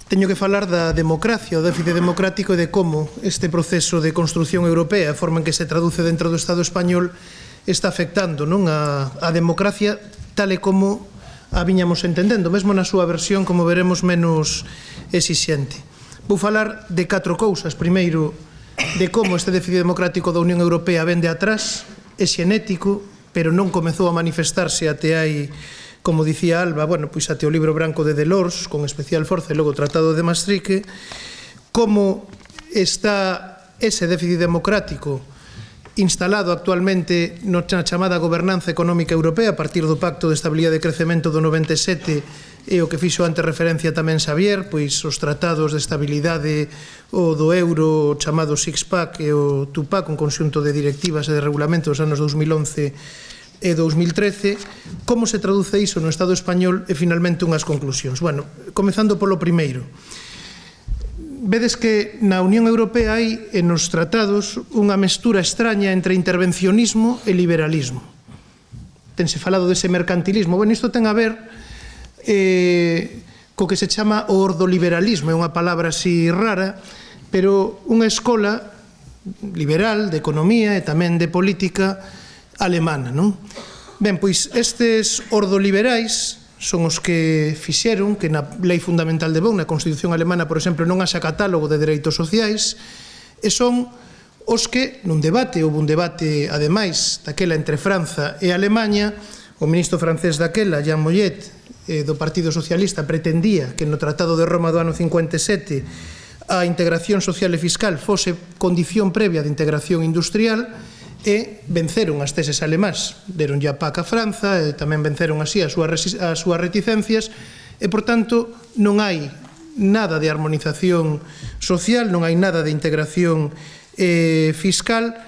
Teño que falar da democracia, o déficit democrático e de como este proceso de construción europea, a forma en que se traduce dentro do Estado español, está afectando a democracia tal e como a viñamos entendendo, mesmo na súa versión, como veremos, menos exixente. Vou falar de 4 cousas. Primeiro, de como este déficit democrático da Unión Europea vende atrás, é xenético, pero non comezou a manifestarse até hai, como dicía Alba, pois até o libro branco de Delors, con especial forza, e logo o Tratado de Maastricht, como está ese déficit democrático instalado actualmente na chamada gobernanza económica europea a partir do Pacto de Estabilidade e Crecemento do 97 e o que fixo antes referencia tamén Xavier, pois os tratados de estabilidade o do euro chamado Six-Pack e o Two-Pack, un conxunto de directivas e de regulamentos dos anos 2011 e 2013, como se traduce iso no Estado español e finalmente unhas conclusións. Comezando polo primeiro. Vedes que na Unión Europea hai nos tratados unha mestura extraña entre intervencionismo e liberalismo. Tense falado dese mercantilismo. Isto ten a ver co que se chama o ordoliberalismo, é unha palabra así rara, pero unha escola liberal de economía e tamén de política alemana, non? Ben, pois estes ordoliberais son os que fixeron que na Lei Fundamental de Bonn, na Constitución Alemana, por exemplo, non haxa catálogo de dereitos sociais, e son os que, nun debate, houve un debate, ademais, daquela entre Franza e Alemanha, o ministro francés daquela, Jean Mollet, do Partido Socialista, pretendía que no Tratado de Roma do ano 57 a integración social e fiscal fose condición previa de integración industrial, e venceron as teses alemás, deron ya PAC a Franza e tamén venceron así as súas reticencias e, por tanto, non hai nada de armonización social, non hai nada de integración fiscal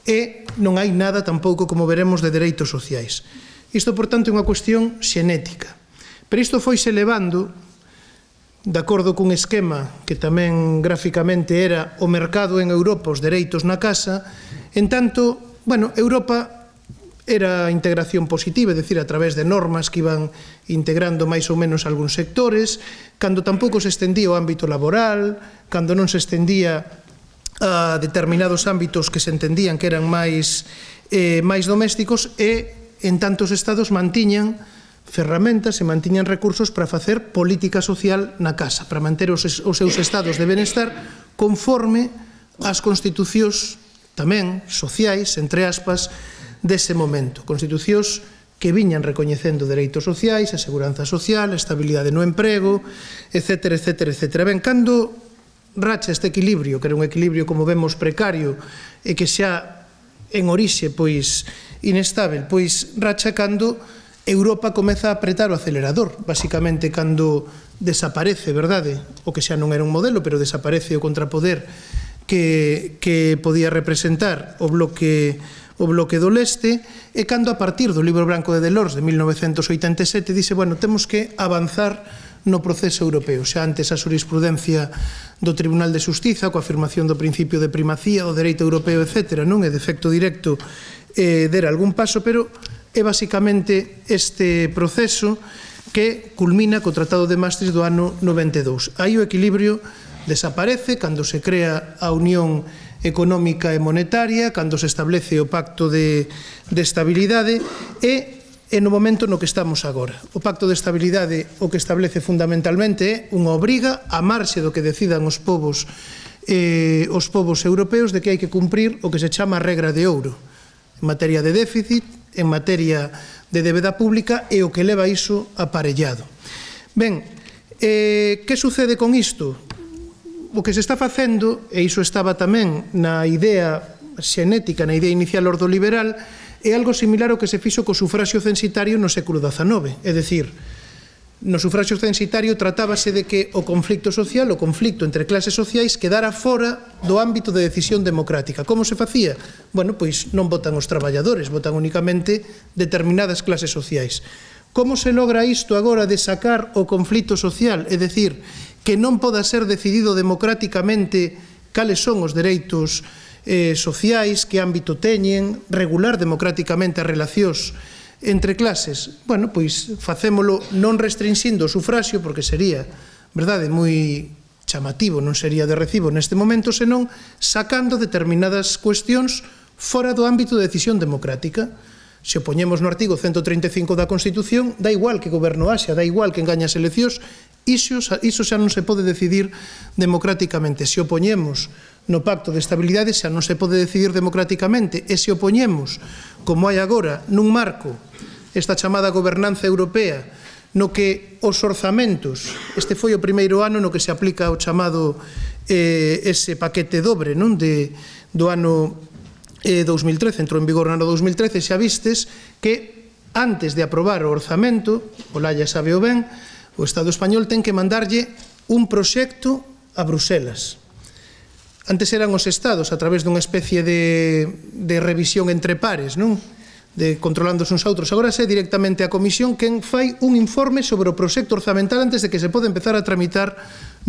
e non hai nada tampouco, como veremos, de dereitos sociais. Isto, por tanto, é unha cuestión xenética. Pero isto foise levando, de acordo cun esquema que tamén gráficamente era o mercado en Europa, os dereitos na casa, en tanto, Europa era a integración positiva, é dicir, a través de normas que iban integrando máis ou menos algúns sectores, cando tampouco se estendía o ámbito laboral, cando non se estendía a determinados ámbitos que se entendían que eran máis domésticos, e en tantos estados mantiñan ferramentas e mantiñan recursos para facer política social na casa, para manter os seus estados de benestar conforme ás constitucións tamén sociais, entre aspas, dese momento. Constitucións que viñan recoñecendo dereitos sociais, a seguranza social, a estabilidade no emprego, etcétera, etcétera, etcétera. Ben, cando racha este equilibrio, que era un equilibrio, como vemos, precario, e que xa en orixe, pois, inestável, pois racha cando Europa comeza a apretar o acelerador, basicamente cando desaparece, verdade, o que xa non era un modelo, pero desaparece o contrapoder que podía representar o bloque do leste, e cando a partir do libro branco de Delors de 1987 dice, temos que avanzar no proceso europeo. Xa antes a xurisprudencia do Tribunal de Xustiza, coa afirmación do principio de primacía, do dereito europeo, etc., non é de efecto directo der algún paso, pero é basicamente este proceso que culmina co Tratado de Maastricht do ano 92. Aí o equilibrio desaparece cando se crea a Unión Económica e Monetaria, cando se establece o Pacto de Estabilidade e no momento no que estamos agora. O Pacto de Estabilidade o que establece fundamentalmente é unha obriga a marxe do que decidan os povos europeos de que hai que cumprir o que se chama a regra de ouro en materia de déficit, en materia de débeda pública e o que leva iso aparellado. Ben, que sucede con isto? O que se está facendo, e iso estaba tamén na idea xenética, na idea inicial ordoliberal, é algo similar ao que se fixo co sufraxio censitario no século XIX. É dicir, no sufraxio censitario tratábase de que o conflicto social, o conflicto entre clases sociais, quedara fora do ámbito de decisión democrática. Como se facía? Pois non votan os traballadores, votan únicamente determinadas clases sociais. Como se logra isto agora de sacar o conflito social? É dicir, que non poda ser decidido democráticamente cales son os dereitos sociais, que ámbito teñen, regular democráticamente as relacións entre clases. Pois facémolo non restringindo o sufraxio, porque sería verdade, moi chamativo, non sería de recibo neste momento, senón sacando determinadas cuestións fora do ámbito de decisión democrática. Se o poñemos no artigo 135 da Constitución, dá igual que goberno haxa, dá igual que engaña as eleccións, iso xa non se pode decidir democráticamente. Se o poñemos no Pacto de Estabilidade, xa non se pode decidir democráticamente. E se o poñemos, como hai agora, nun marco, esta chamada gobernanza europea, no que os orzamentos, este foi o primeiro ano no que se aplica o chamado ese paquete dobre do ano 2013, entrou en vigor no ano 2013, xa vistes que antes de aprobar o orzamento, o Laia sabe o ben, o Estado español ten que mandarlle un proxecto a Bruselas. Antes eran os Estados, a través dunha especie de revisión entre pares, non? Controlando uns a outros. Agora é directamente a Comisión quen fai un informe sobre o proxecto orzamental antes de que se pode empezar a tramitar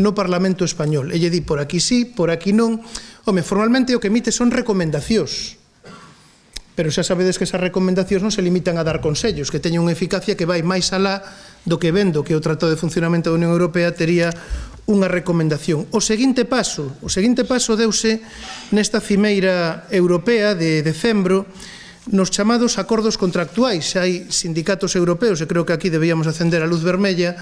no Parlamento español. E lle di por aquí sí, por aquí non. Home, formalmente o que emite son recomendacións. Pero xa sabedes que esas recomendacións non se limitan a dar consellos, que teñen unha eficacia que vai máis alá do que vendo que o Tratado de Funcionamento da Unión Europea tería unha recomendación. O seguinte paso deuse nesta cimeira europea de decembro nos chamados acordos contractuais. Hai sindicatos europeus, e creo que aquí debíamos acender a luz vermella,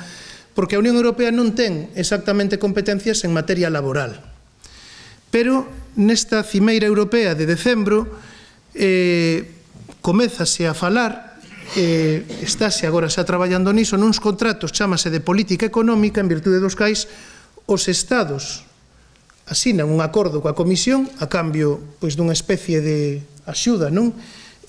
porque a Unión Europea non ten exactamente competencias en materia laboral. Pero nesta cimeira europea de decembro comézase a falar, estáse agora xa traballando niso, nuns contratos, chámase de política económica, en virtude dos cais os Estados asinan un acordo coa Comisión a cambio dunha especie de axuda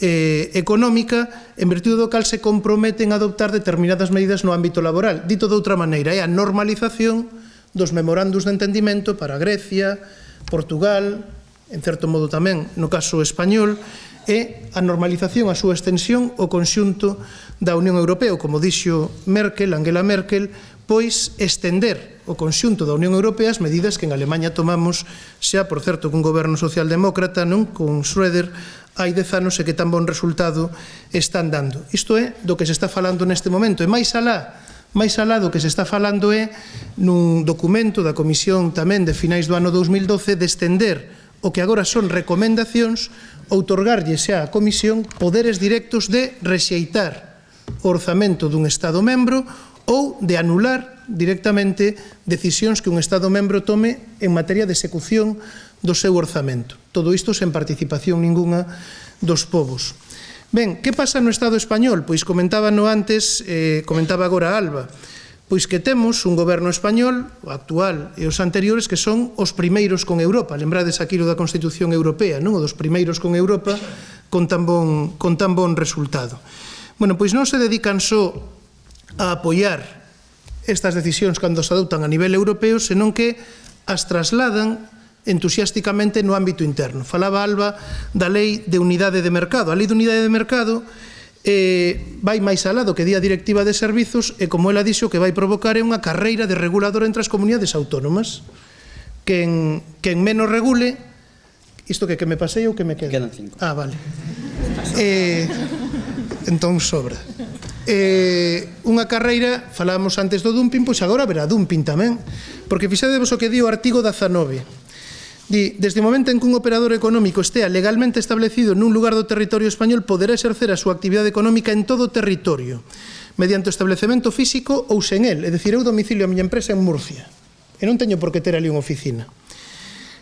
económica, en virtude do cal se comprometen a adoptar determinadas medidas no ámbito laboral. Dito de outra maneira, é a normalización dos memorandos de entendimento para Grecia, Portugal, en certo modo tamén no caso español, e a normalización, a súa extensión ao conxunto da Unión Europea, como dixo Angela Merkel, pois estender o conxunto da Unión Europea as medidas que en Alemanha tomamos xa, por certo, cun goberno socialdemócrata, con Schröder, hai 10 anos e que tan bon resultado están dando. Isto é do que se está falando neste momento. E máis alá do que se está falando é nun documento da Comisión tamén de finais do ano 2012 de estender o que agora son recomendacións, outorgarlle xa á Comisión poderes directos de rexeitar o orzamento dun Estado membro ou de anular directamente decisións que un Estado membro tome en materia de execución do seu orzamento. Todo isto sen participación ninguna dos povos. Ben, que pasa no Estado español? Pois comentaba agora Alba, pois que temos un goberno español, o actual e os anteriores, que son os primeiros con Europa. Lembrades aquilo da Constitución Europea, non? O dos primeiros con Europa con tan bon resultado. Bueno, pois non se dedican só a apoiar estas decisións cando se adoptan a nivel europeo, senón que as trasladan entusiásticamente no ámbito interno. Falaba Alba da Lei de Unidade de Mercado. A Lei de Unidade de Mercado vai máis alá do que di a Directiva de Servizos e, como ela dixo, que vai provocar é unha carreira de regulador entre as comunidades autónomas. Quen menos regule, isto que me pasei ou que me queda? Quedan 5. Ah, vale. Entón sobra. Unha carreira, falábamos antes do dumping, pois agora haberá dumping tamén, porque fixadevos o que di o artigo 19. Di, desde o momento en que un operador económico estea legalmente establecido nun lugar do territorio español, poderá exercer a súa actividade económica en todo o territorio, mediante o establecemento físico ou sen el, é dicir, eu domicilio a miña empresa en Murcia, e non teño por que ter ali unha oficina.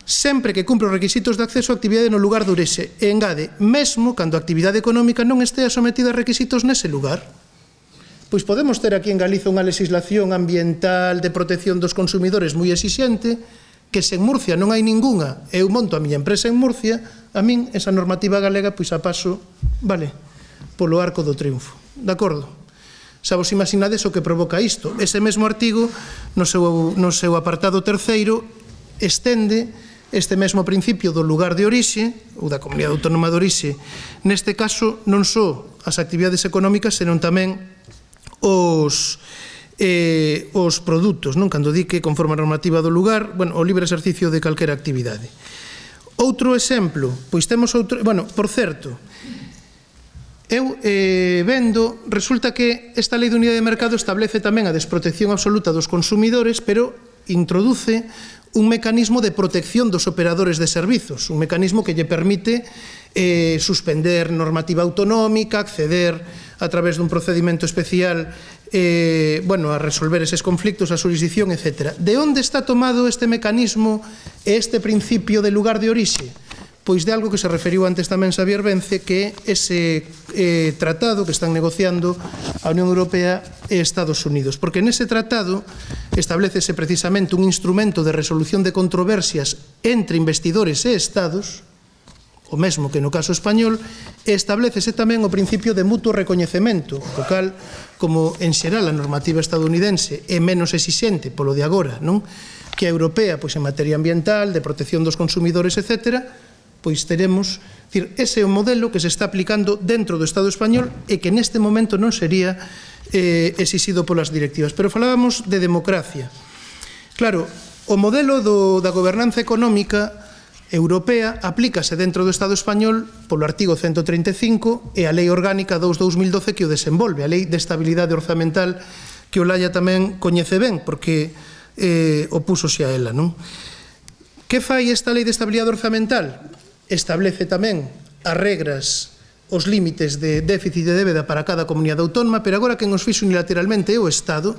Sempre que cumpre os requisitos de acceso a actividade no lugar de orixe, e engade, mesmo cando a actividade económica non estea sometida a requisitos nese lugar. Pois podemos ter aquí en Galiza unha legislación ambiental de protección dos consumidores moi exixente, que se en Murcia non hai ningunha e eu monto a miña empresa en Murcia, a min esa normativa galega pois a paso, vale, polo arco do triunfo. De acordo? Xa vos imaginades o que provoca isto. Ese mesmo artigo, no seu apartado terceiro, estende este mesmo principio do lugar de orixe, ou da comunidade autónoma de orixe, neste caso non só as actividades económicas, senón tamén os produtos, non? Cando di que conforme a normativa do lugar, o libre exercicio de calquera actividade. Outro exemplo, pois temos outro, por certo, Eu vendo, resulta que esta lei de unidade de mercado establece tamén a desprotección absoluta dos consumidores, pero introduce un mecanismo de protección dos operadores de servizos, un mecanismo que lle permite suspender normativa autonómica, acceder a través dun procedimento especial a resolver eses conflictos, a xurisdicción, etc. De onde está tomado este mecanismo e este principio de lugar de orixe? Pois de algo que se referiu antes tamén Xavier Vence, que é ese tratado que están negociando a Unión Europea e Estados Unidos. Porque nese tratado establecese precisamente un instrumento de resolución de controversias entre investidores e Estados, o mesmo que no caso español, e establecese tamén o principio de mutuo recoñecemento, o cal, como en xeral a normativa estadounidense é menos exixente polo de agora, non? Que a europea, pois en materia ambiental, de protección dos consumidores, etc., pois teremos, ese é o modelo que se está aplicando dentro do Estado español e que neste momento non sería exixido polas directivas. Pero falábamos de democracia. Claro, o modelo da gobernanza económica europea aplícase dentro do Estado español polo artigo 135 e a Lei Orgánica 2/2012 que o desenvolve, a Lei de Estabilidade Orzamental, que Olaya tamén coñece ben, porque opúsose a ela, non? Que fai esta Lei de Estabilidade Orzamental? Establece tamén as regras, os límites de déficit de débeda para cada comunidade autónoma, pero agora quen os fixo unilateralmente é o Estado.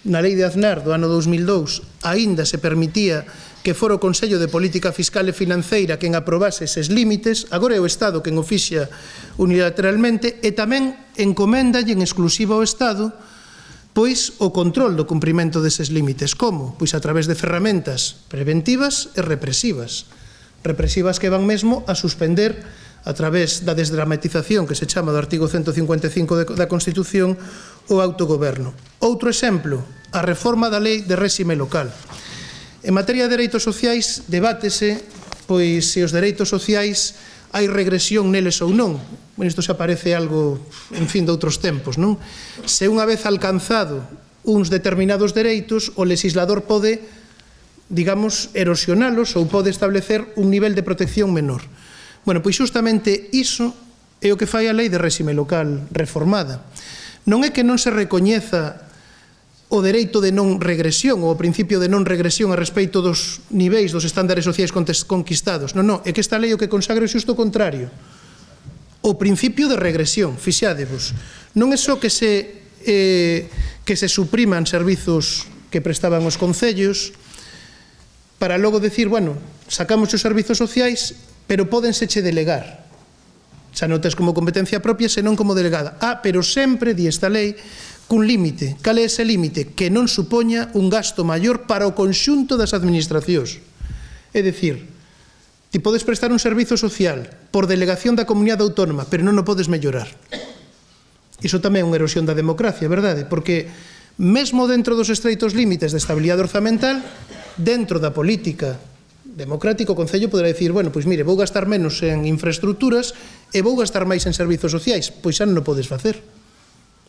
Na Lei de Aznar do ano 2002 aínda se permitía que fora o Consello de Política Fiscal e Financeira quen aprobase eses límites, agora é o Estado quen o fixa unilateralmente, e tamén encoméndalle en exclusiva ao Estado pois o control do cumprimento deses límites. Como? Pois a través de ferramentas preventivas e represivas. Represivas que van mesmo a suspender a través da desdramatización que se chama do artigo 155 da Constitución o autogoberno. Outro exemplo, a reforma da Lei de Réxime Local. En materia de dereitos sociais debátese pois se os dereitos sociais hai regresión neles ou non. Isto xa parece algo, en fin, de outros tempos, non? Se unha vez alcanzado uns determinados dereitos, o legislador pode, digamos, erosionalos ou pode establecer un nivel de protección menor. Bueno, pois justamente iso é o que fai a Lei de Réxime Local reformada. Non é que non se recoñeza o dereito de non regresión ou o principio de non regresión a respeito dos niveis dos estándares sociais conquistados. Non, é que esta lei o que consagra é xusto o contrario. O principio de regresión, fixádevos. Non é só que se supriman servizos que prestaban os concellos para logo decir, bueno, sacamos os servizos sociais, pero pódenseche delegar. Xa non tes como competencia propia, senón como delegada. Pero sempre, di esta lei, cun límite. Cal é ese límite? Que non supoña un gasto maior para o conxunto das administracións. É dicir, ti podes prestar un servizo social por delegación da comunidade autónoma, pero non o podes mellorar. Iso tamén é unha erosión da democracia, verdade? Porque mesmo dentro dos estreitos límites de estabilidade orzamental, dentro da política democrática, o Concello poderá dicir, bueno, pois mire, vou gastar menos en infraestructuras e vou gastar máis en servizos sociais. Pois xa non o podes facer,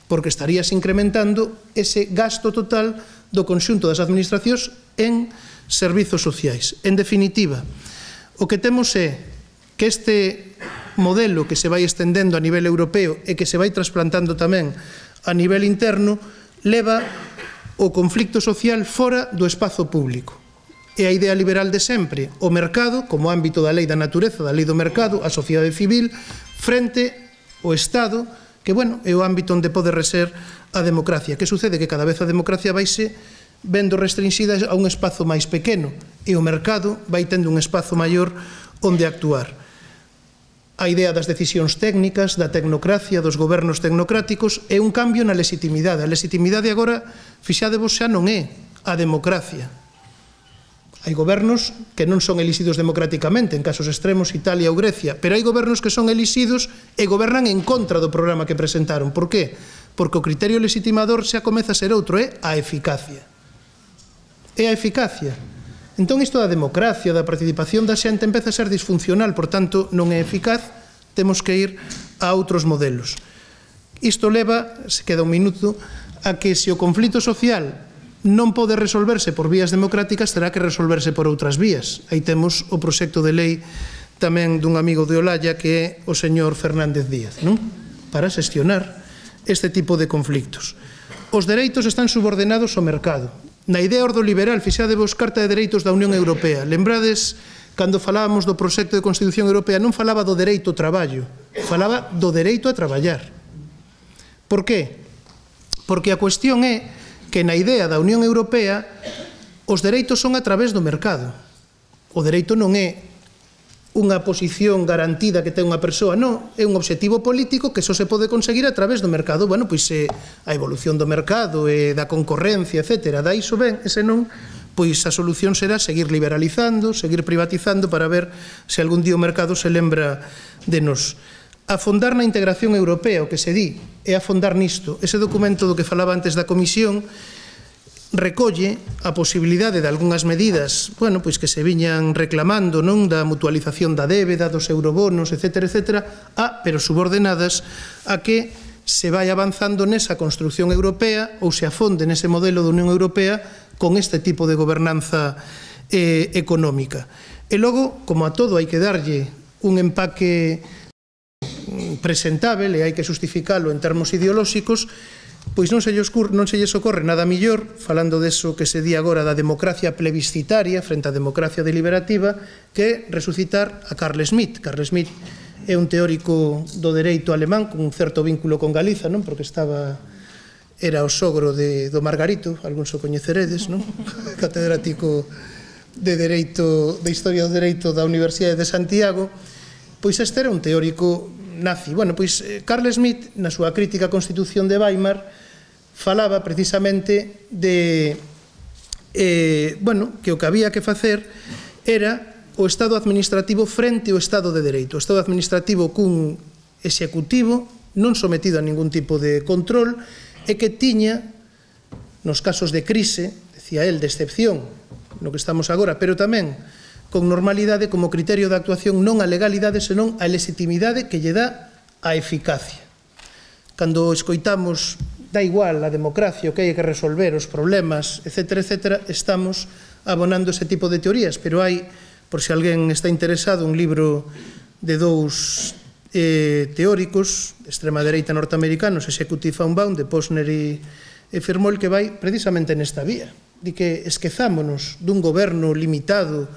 porque estarías incrementando ese gasto total do conxunto das administracións en servizos sociais. En definitiva, o que temos é que este modelo que se vai estendendo a nivel europeo e que se vai trasplantando tamén a nivel interno leva o conflicto social fora do espazo público. É a idea liberal de sempre, o mercado, como ámbito da lei da natureza, da lei do mercado, a sociedade civil, frente ao Estado, que, bueno, é o ámbito onde pode reser a democracia. Que sucede? Que cada vez a democracia vaise vendo restringida a un espazo máis pequeno e o mercado vai tendo un espazo maior onde actuar. A idea das decisións técnicas, da tecnocracia, dos gobernos tecnocráticos, é un cambio na legitimidade. A legitimidade agora, fixádevos, xa non é a democracia. Hai gobernos que non son elixidos democráticamente, en casos extremos Italia ou Grecia, pero hai gobernos que son elixidos e gobernan en contra do programa que presentaron. Por qué? Porque o criterio legitimador xa comeza a ser outro, é a eficacia. É a eficacia. Entón isto da democracia, da participación da xente empeza a ser disfuncional, por tanto non é eficaz, temos que ir a outros modelos. Isto leva, se queda un minuto, a que se o conflito social non pode resolverse por vías democráticas, terá que resolverse por outras vías. Aí temos o proxecto de lei tamén dun amigo de Olaya, que é o señor Fernández Díaz, non? para xestionar este tipo de conflictos. Os dereitos están subordinados ao mercado. Na idea ordoliberal, fixadevos Carta de Dereitos da Unión Europea. Lembrades, cando falábamos do proxecto de Constitución Europea, non falaba do dereito ao traballo, falaba do dereito a traballar. Por qué? Porque a cuestión é que na idea da Unión Europea os dereitos son a través do mercado. O dereito non é unha posición garantida que ten unha persoa, non, é un obxectivo político que só se pode conseguir a través do mercado. Bueno, pois a evolución do mercado e da concorrencia, etc. Da iso ben, e senón, pois a solución será seguir liberalizando, seguir privatizando para ver se algún día o mercado se lembra de nos. Afondar na integración europea, o que se di, é afondar nisto. Ese documento do que falaba antes da Comisión recolle a posibilidade de algunhas medidas, bueno, pois que se viñan reclamando, non, da mutualización da débeda, dos eurobonos, etc., pero subordinadas a que se vai avanzando nesa construcción europea ou se afonde nese modelo da Unión Europea con este tipo de gobernanza económica. E logo, como a todo hai que darlle un empaque presentável e hai que justificalo en termos ideolóxicos, pois non se lles ocorre nada millor, falando deso que se di agora da democracia plebiscitaria frente á democracia deliberativa, que resucitar a Carl Schmitt. Carl Schmitt é un teórico do dereito alemán con un certo vínculo con Galiza, non? Porque era o sogro do Margarito, algúns o coñeceredes, non? Catedrático de Historia do Dereito da Universidade de Santiago. Pois este era un teórico nazi. Bueno, pois Carl Schmitt, na súa crítica á Constitución de Weimar, falaba precisamente de que o que había que facer era o Estado administrativo frente ao Estado de Dereito. O Estado administrativo cun executivo non sometido a ningún tipo de control e que tiña, nos casos de crise, decía el, de excepción, no que estamos agora, pero tamén con normalidade como criterio de actuación non a legalidade, senón a legitimidade que lle dá a eficacia. Cando escoitamos, dá igual a democracia, o que hai que resolver, os problemas, etc., estamos abonando ese tipo de teorías, pero hai, por se alguén está interesado, un libro de dous teóricos, extrema dereita norteamericanos, Executive Unbound, de Posner e Firmol, que vai precisamente nesta vía, de que esquezámonos dun goberno limitado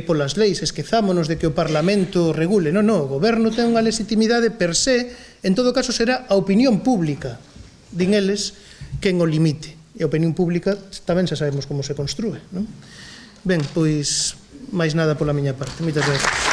polas leis, esquezámonos de que o Parlamento regule. Non, o goberno ten unha legitimidade per se, en todo caso será a opinión pública, din eles, quen o limite. E a opinión pública tamén xa sabemos como se construe, non? Ben, pois, máis nada pola miña parte. Moitas gracias.